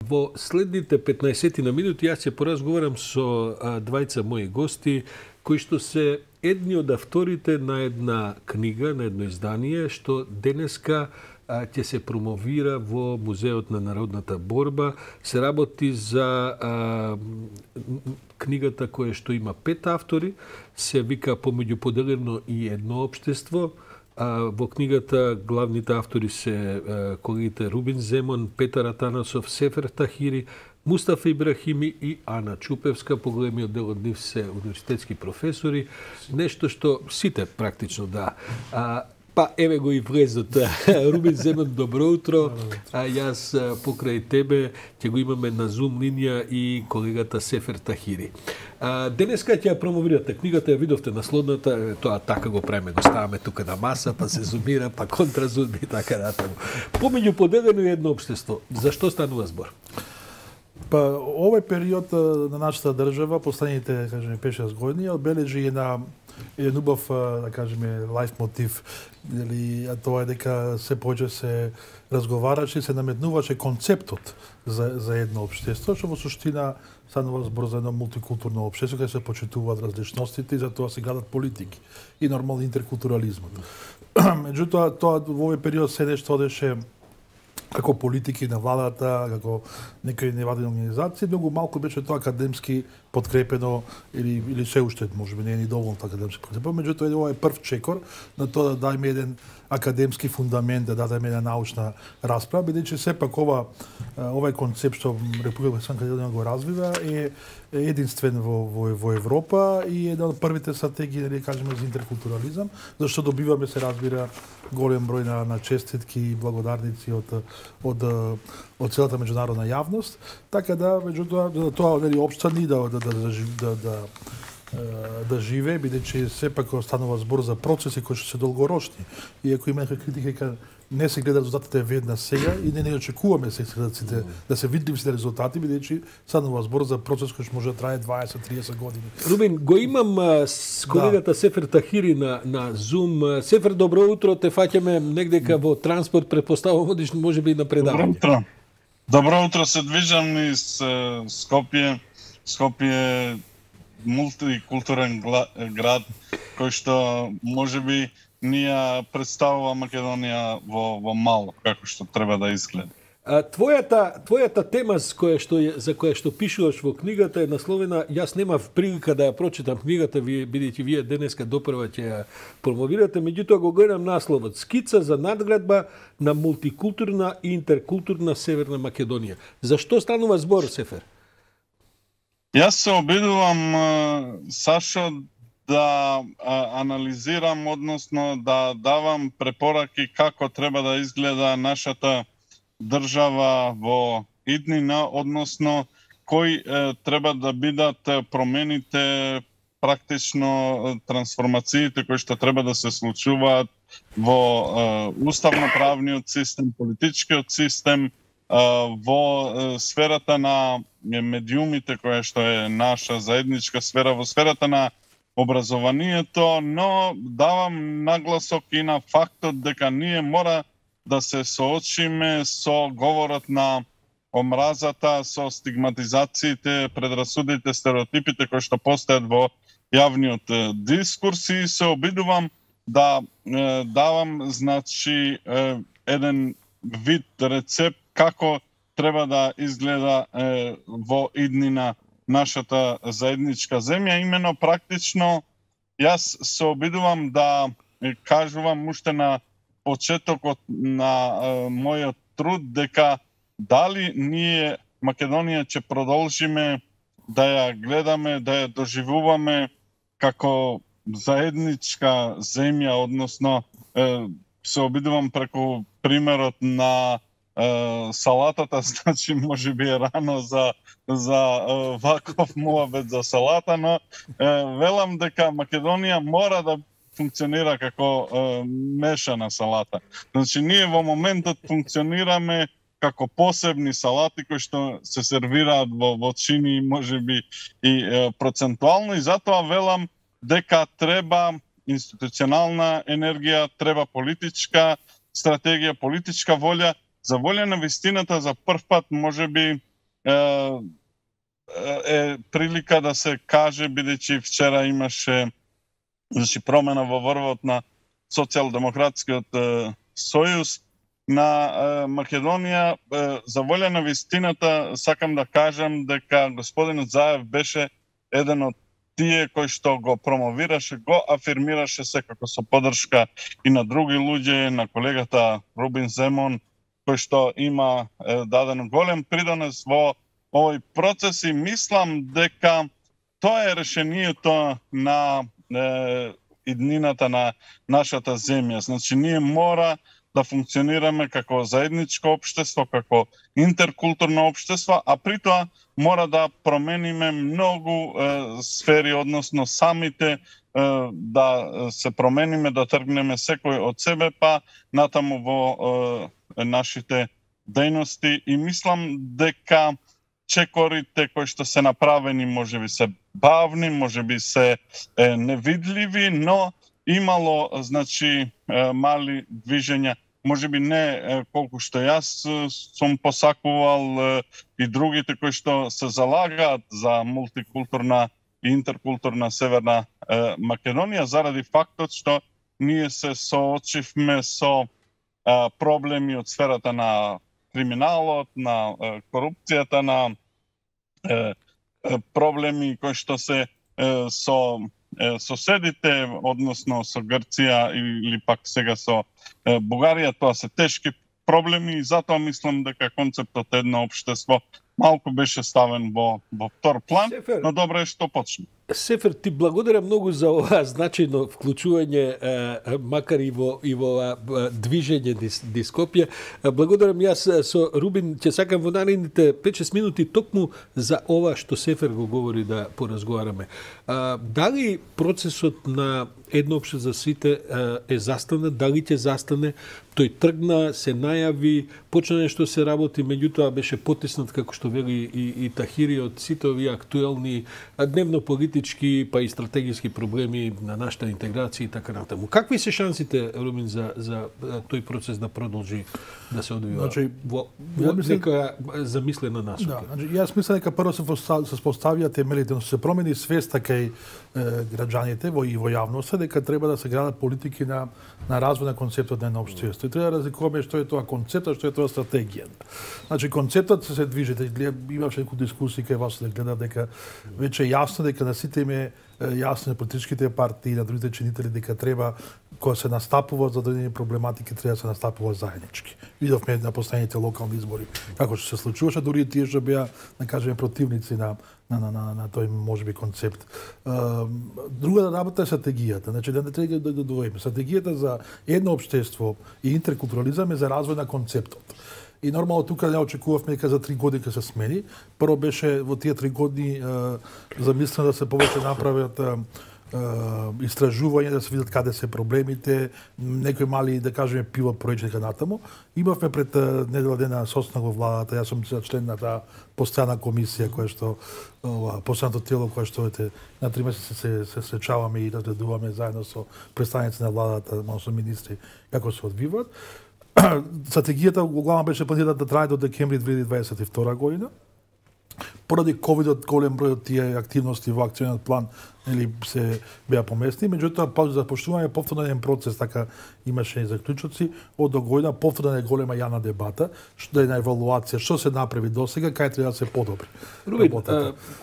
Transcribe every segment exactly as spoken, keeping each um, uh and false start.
Во следните петнаесет на минути јас ќе поразговарам со а, двајца мои гости кои што се едни од авторите на една книга, на едно издание што денеска а, ќе се промовира во Музеот на народната борба. Се работи за а, книгата која што има пет автори, се вика Помеѓу поделено и едно општество. А, во книгата главните автори се а, колегите Рубин Земон, Петар Атанасов, Сефер Тахири, Мустафа Ибрахими и Ана Чупевска. Поголемиот дел од нив се универзитетски професори. Нешто што сите практично да. А, па еве го и влезот. Рубин Земон, добро утро. А јас покрај тебе ќе го имаме на Zoom линија и колегата Сефер Тахири. А, денеска ќе ја промовирате книгата, ја видовте насловната, тоа така го правиме, го ставаме тука на маса, па се зумира, па контразуми и така натаму. Помеѓу поделено и едно општество. Зашто станува збор? Па овој период на нашата држава, последните, кажеме, пет-шест години, одбележи една еден убав, да кажеме, лайф мотив, или тоа е дека се повеќе се разговараше, се наметнуваше концептот за за едно општество, што во суштина станува збор за едно мултикултурно општество каде се почитуваат различностите и за тоа се градат политики и нормално интеркултурализмот. Меѓутоа, тоа во овој период се нешто одеше како политики на владата, како некои невладини организации, многу малку беше тоа академски подкрепено или или се уште можеби не е ни доволно така академски подкрепено, меѓутоа ова е прв чекор на тоа да дајме еден академски фундамент, да дадеме една научна расправа, бидејќи сепак ова овој концепт што Република Македонија го развива е единствен во во во Европа и една од првите стратегии, да кажеме, за интеркултурализам, зашто добиваме, се разбира, голем број на на честитки и благодарници од од од целата меѓународна јавност, така да меѓутоа тоа нели општани да да да да да да живее, бидејќи сепак останува збор за процеси кои што се долгорочни. И ако има некои критики дека не се гледа резултатите веднаш сега и не не очекуваме се следците да се видливи се резултати, бидејќи станува збор за процес кој што може да трае дваесет-триесет години. Рубин, го имам а, с колегата да. Сефер Тахири на на Zoom. Сефер, добро утро, те фаќаме негдека во транспорт, претпоставувам одиш можеби и на предавање. Добро утро. Добро утро, се движам низ Скопје. Скопје мултикултурен град кој што можеби ни ја представува Македонија во во мало, како што треба да изгледа. А, твојата твојата тема за која што за која што пишуваш во книгата е насловена, јас немав прилика да ја прочитам книгата, вие бидејќи вие денеска допрва ќе ја промовирате, меѓутоа го гледам насловот: Скица за надградба на мултикултурна и интеркултурна Северна Македонија. Зашто станува збор, Сефер? Јас се обидувам, Сашо, да а, анализирам, односно да давам препораки како треба да изгледа нашата држава во иднина, односно кои е, треба да бидат промените, практично трансформациите кои што треба да се случуваат во е, уставно-правниот систем, политичкиот систем, во сферата на медиумите, која што е наша заедничка сфера, во сферата на образованието, но давам нагласок и на фактот дека ние мора да се соочиме со говорот на омразата, со стигматизациите, предрасудите, стереотипите кои што постојат во јавниот дискурс и се обидувам да е, давам, значи, е, еден вид рецепт како треба да изгледа е, во иднина нашата заедничка земја. Имено практично јас се обидувам да кажувам уште на почетокот на е, мојот труд дека дали ние Македонија ќе продолжиме да ја гледаме, да ја доживуваме како заедничка земја, односно е, се обидувам преку примерот на Uh, салатата, значи може би е рано за за uh, ваков муабет за салата, но uh, велам дека Македонија мора да функционира како uh, мешана салата. Значи ние во моментот функционираме како посебни салати кои што се сервираат во во чини можеби и uh, процентуално, и затоа велам дека треба институционална енергија, треба политичка стратегија, политичка волја, за волја на вистината за прв пат можеби е, е прилика да се каже, бидејќи вчера имаше значи промена во врвот на Социјалдемократскиот сојуз на е, Македонија. Е, за волја на вистината сакам да кажам дека господинот Заев беше еден од тие кој што го промовираше, го афирмираше секако со поддршка и на други луѓе, на колегата Рубин Земон, кој што има е, даден голем придонес во овој процес и мислам дека тоа е решението на е, иднината на нашата земја. Значи, ние мора да функционираме како заедничко општество, како интеркултурно општество, а при тоа мора да промениме многу е, сфери, односно самите е, да се промениме, да тргнеме секој од себе, па натаму во е, нашите дејности. И мислам дека чекорите кои што се направени можеби се бавни, можеби се е, невидливи, но имало значи е, мали движења, можеби не е, колку што јас е, сум посакувал е, и другите кои што се залагаат за мултикултурна и интеркултурна Северна е, Македонија, заради фактот што ние се соочивме со е, проблеми од сферата на криминалот, на е, корупцијата, на е, е, проблеми кои што се е, со е, соседите, односно со Грција или пак сега со е, Бугарија. Тоа се тешки проблеми и затоа мислам дека концептот едно општество малку беше ставен во, во втор план, Сефер, но добро е што почне. Сефер, ти благодаря многу за ова значајно вклучување, макар и во, и во движење дис, Дископија. Благодарам јас со Рубин, ќе сакам во наредните пет-шест минути токму за ова што Сефер го говори да поразговараме. А, дали процесот на едно опште за сите е застане, дали ќе застане? Тој тргна, се најави, почна нешто се работи, меѓутоа беше потиснат, како што вели и, и Тахири, од сите овие актуелни дневно политички па и стратегиски проблеми на нашата интеграција и така натаму. Какви се шансите, Рубин, за, за тој процес да продолжи да се одвива значи, во, во мислен... нека замислена насока? Да, значи, јас мислам дека прво се се поставија темелите, но се промени свеста кај граѓаните во и во јавноста дека треба да се градат политики на на развој на концептот на едно општество. И треба да разликуваме што е тоа концепт, што е тоа стратегија. Значи концептот се движи, имаше некои дискусии кај вас да гледа дека веќе е јасно дека на сите им е јасно на политичките партии и на другите чинители дека треба кога се настапува за одредени проблематики треба да се настапува заеднички. Видовме на последните локални избори како што се случуваше, дури и тие што беа, да кажеме, противници на на на на, на тој можеби концепт. Друга работа е стратегијата. Значи да не треба да дојдеме. Стратегијата за едно општество и интеркултурализам е за развој на концептот. И нормално тука не очекувавме дека за три години ќе се смени. Прво беше во тие три години замислено да се повеќе направат истражување, да се видат каде се проблемите, некои мали, да кажеме, пилот проекти дека натаму. Имавме пред недела дена состанок во владата, јас сум член на таа постојана комисија која што ова постојаното тело кое што ете на три месеци се се сречаваме и разгледуваме заедно со представници на владата, со министри како се одвиваат. Стратегијата главно беше планирана да трае до декември две илјади дваесет и втора година. Поради ковидот голем број од тие активности во акциониот план или се беа поместни, меѓутоа па за поштување повторно еден процес, така имаше и заклучоци од до година, повторно е голема јавна дебата, што е на евалуација, што се направи досега, кај треба да се подобри. Рубин,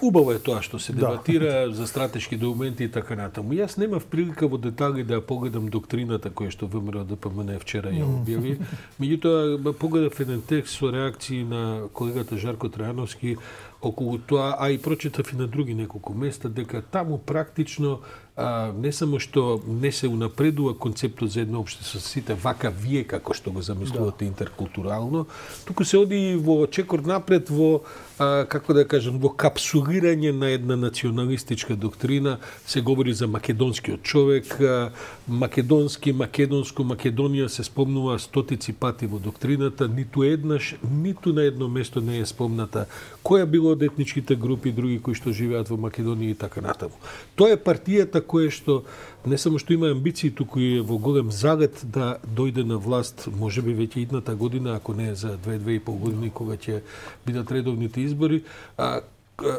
убаво е тоа што се дебатира да. за стратешки документи и така натаму. Јас немав прилика во детали да погледам доктрината која што ВМРО Д П М Н вчера ја објави. Меѓутоа погледав еден текст со реакции на колегата Жарко Трајановски околу тоа, а и прочитав и на други неколку места, дека таму практично а, не само што не се унапредува концептот за едно општество со сите вака вие како што го замислувате да. интеркултурално, туку се оди во чекор напред во а, како да кажам во капсулирање на една националистичка доктрина, се говори за македонскиот човек, а, македонски, македонско, Македонија се спомнува стотици пати во доктрината, ниту еднаш, ниту на едно место не е спомната која било од етничките групи, други кои што живеат во Македонија и така натаму. Тоа е партијата која што не само што има амбиции, туку е во голем загат да дојде на власт, можеби веќе идната година, ако не за две-две и пол години кога ќе бидат редовните избори. А,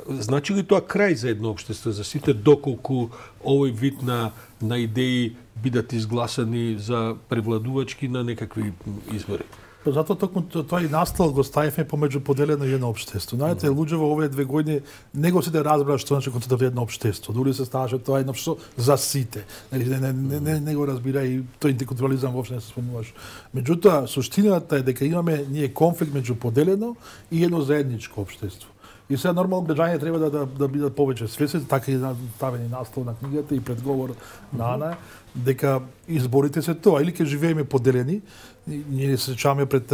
значи ли тоа крај за едно општество, за сите, доколку овој вид на на идеи бидат изгласани за превладувачки на некакви избори? Затоа токму тоа и настал го ставивме помеѓу поделено и едно општество. Знаете, луѓе во овие две години не го сите разбраа што значи концептот едно општество. Дури се ставаше тоа едно општество за сите. Не, не, не, не, не го разбира и тој интеркултурализам воопшто не се спомнуваш. Меѓутоа, суштината е дека имаме ние конфликт меѓу поделено и едно заедничко општество. И сега нормално граѓаните треба да, да, да бидат повеќе свесни, така и ставени наслов на книгата и предговор на Ана, дека изборите се тоа, или ќе живееме поделени. Ние се сеќаваме пред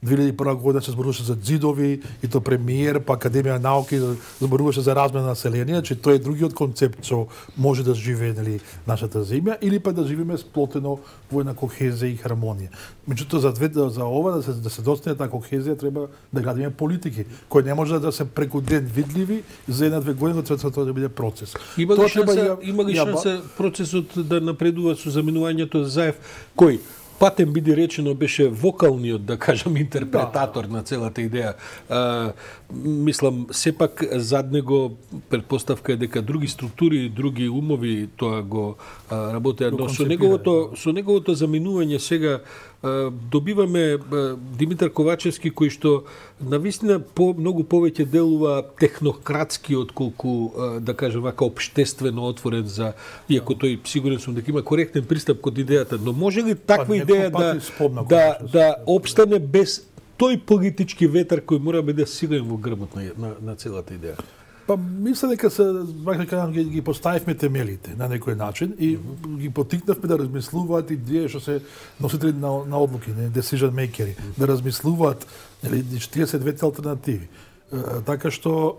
две илјади и прва година се зборуваше за ѕидови, и то премиер, па Академија науки зборуваше за размена на население, че тоа е другиот концепт што може да живее, нели, нашата земја, или па да живееме сплотено во една кохезија и хармонија. Меѓутоа за две за ова да се да се достигне таа кохезија треба да градиме политики кои не може да се преку ден видливи за една-две години, треба тоа да биде процес. Има ли шанса, има ли шанса процесот да напредува со заменувањето Заев, кој патем биде речено беше вокалниот, да кажам, интерпретатор да. на целата идеја. А, мислам, сепак зад него предпоставка е дека други структури, други умови тоа го а, работеа, но со неговото со неговото заменување сега а, добиваме а, Димитар Ковачевски, кој што навистина по многу повеќе делува технократски отколку а, да кажам вака општествено отворен за, иако тој сигурен сум дека има коректен пристап кон идејата, но може ли таква идеја да да да опстане без тој политички ветар кој мора да биде силен во грбот на, на, на целата идеја? Па мисля дека се вака ги, ги поставивме темелите на некој начин и mm -hmm. ги потикнавме да размислуваат и тие што се носители на, на одлуки, не decision makeri, mm -hmm. да размислуваат, нели, тие се двете алтернативи. Е, така што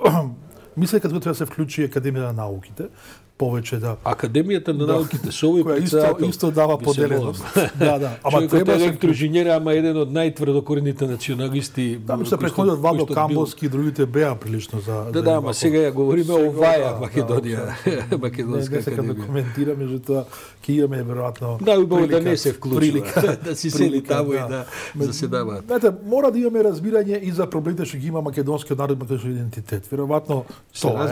мисля дека треба да се вклучи Академија на науките, повеќе да Академијата на науките со овој председател исто, исто дава поделеност. Да, да. Ама треба електроинженер, ама еден од најтврдокорените националисти. Таму се преходот Владо Камбовски и другите беа прилично за Да, да, ама сега ја говориме о оваја Македонија, Македонска академија. Не, не се коментира, меѓутоа ќе имаме веројатно. Да, убаво да не се вклучува, да си сели таму и да заседаваат. Знаете, мора да имаме разбирање и за проблемите што ги има македонскиот народ, македонскиот идентитет. Веројатно тоа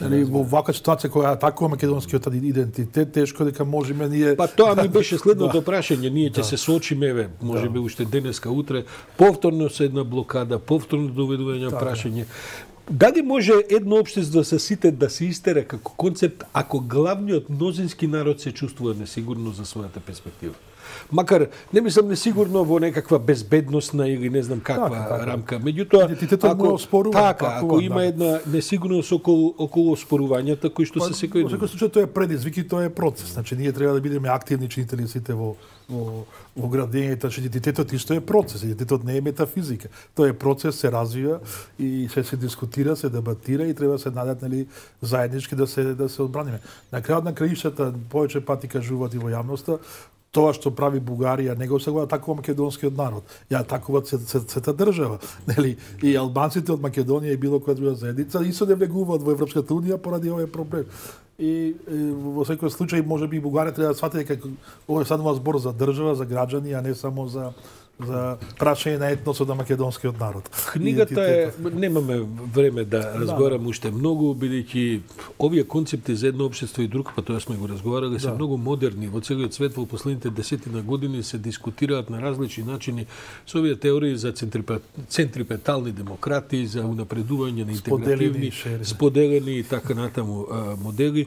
е. Во ваква ситуација која атакува македонскиот идентитет, тешко дека можеме ние. Па тоа ми беше следното прашање, ние ќе се соочиме, еве, можеби уште денеска, утре, повторно со една блокада, повторно доведување прашање. Дали може едно општество со сите да се истера како концепт ако главниот мнозински народ се чувствува несигурно за својата перспектива? Макар не мислам несигурно во некаква безбедносна или не знам каква така, така. рамка. Меѓутоа, ако спорува, така, ако има да. една несигурност околу околу спорувањата кои што па, се секој ден. Во секој случај тоа е предизвик и тоа е процес. Значи ние треба да бидеме активни чинители сите во во во градењето, че идентитетот исто е процес. Идентитетот не е метафизика. Тоа е процес, се развива и се се дискутира, се дебатира и треба се најдат, нели, заеднички да се да се одбраниме. На крајот на краишата повеќе пати кажуваат и во јавноста, тоа што прави Бугарија не го сега атакува македонскиот народ, ја атакуваат сета држава, нели? И албанците од Македонија и било која друга заедница и се не влегуваат во Европската унија поради овој проблем. И, и во секој случај можеби Бугарија треба да свати дека ова е станува збор за држава, за граѓани, а не само за за прашање на етносот на македонскиот народ. Книгата е, немаме време да разговараме да. уште многу, бидејќи овие концепти за едно општество и друг, па тоа сме го разговарали, да. се многу модерни. Во целиот свет во последните десетина години се дискутираат на различни начини со овие теории за центрипетални демократии, за унапредување на интегративни, споделени, споделени и така натаму модели.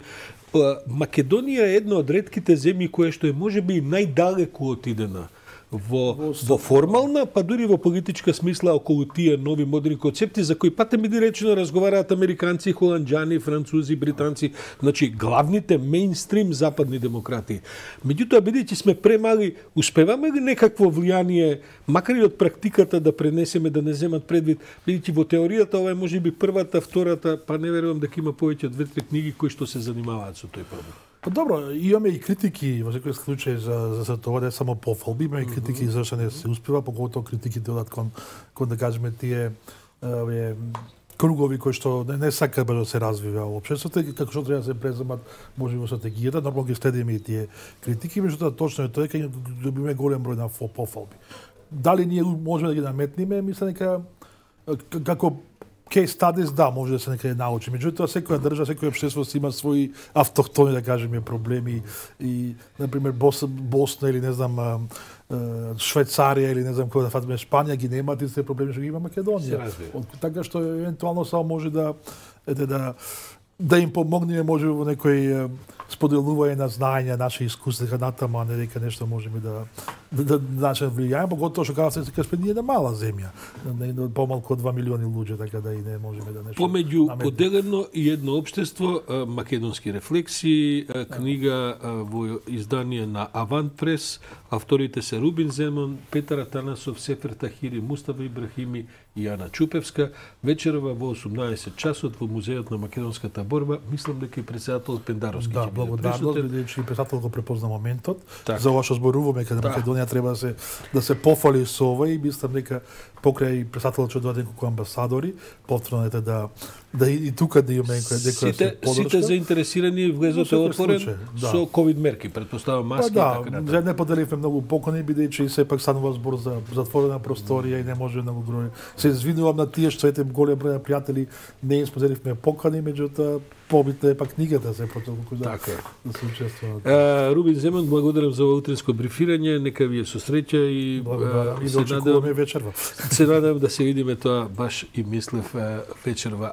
Македонија е една од ретките земји која што е можеби најдалеку отидена во, во формална, па дури во политичка смисла околу тие нови модерни концепти за кои патем биде речено разговараат американци, холанџани, французи, британци, значи главните мејнстрим западни демократии. Меѓутоа, бидејќи сме премали, успеваме ли некакво влијание, макар и од практиката да пренесеме, да не земат предвид, бидејќи во теоријата ова е можеби првата, втората, па не верувам дека има повеќе од две-три книги кои што се занимаваат со тој проблем. Па добро, имаме и критики во секој случај за за тоа, не само пофалби, имаме и критики зашто не се успева, поготово критиките одат кон кон да кажеме тие овие кругови кои што не, не сакаат да се развива општеството и како што треба да се преземат можеби во стратегијата, нормално ги следиме и тие критики, меѓутоа точно е тоа дека добиме голем број на пофалби. Дали ние можеме да ги наметниме, мислам дека како case studies, да, може да се некаде научи. Меѓутоа, секоја држава, секоја општество има своји автохтони, да кажеме, проблеми и, например, Бос, Босна или, не знам, Швајцарија или, не знам, кој да фатиме, Шпанија, ги немаат истите проблеми што ги има Македонија. Така што, евентуално, само може да, ете, да, да им помогнеме, може во некој споделување на знаења, наши искуства, дека натаму, а не дека нешто можеме да да, да, да влијаеме, поготово што кажа се дека ние на мала земја, не помалку од два милиони луѓе, така да и не можеме да нешто. Помеѓу поделено и едно општество, македонски рефлексии, книга во издание на Авант Прес, авторите се Рубин Земон, Петар Атанасов, Сефер Тахири, Мустафа Ибрахими и Ана Чупевска. Вечерва во осумнаесет часот во Музеот на македонската борба, мислам дека и председател Пендаровски. Да, благодарност, бидејќи председател го препозна моментот. Так. За ова што зборуваме каде да. Македонија треба да се да се пофали со ова и мислам дека покрај председателот ќе дојдат неколку амбасадори, повторно ете да да и, и тука да имаме некоја дека сите сите заинтересирани влезот е отворен да. Со ковид мерки, претпоставам маски па, и така натаму. Да, не поделивме многу покани бидејќи сепак станува збор за затворена просторија и не може многу број. Се извинувам на тие што ете голем број на пријатели не им споделивме покани, меѓутоа побитно е пак книгата се потолку да, така. Да се учествуваат. Uh, Рубин Земан, благодарам за ова утринско брифирање, нека ви е со среќа и uh, и да очекуваме вечерва. Се надевам да се видиме тоа баш и мислев вечерва.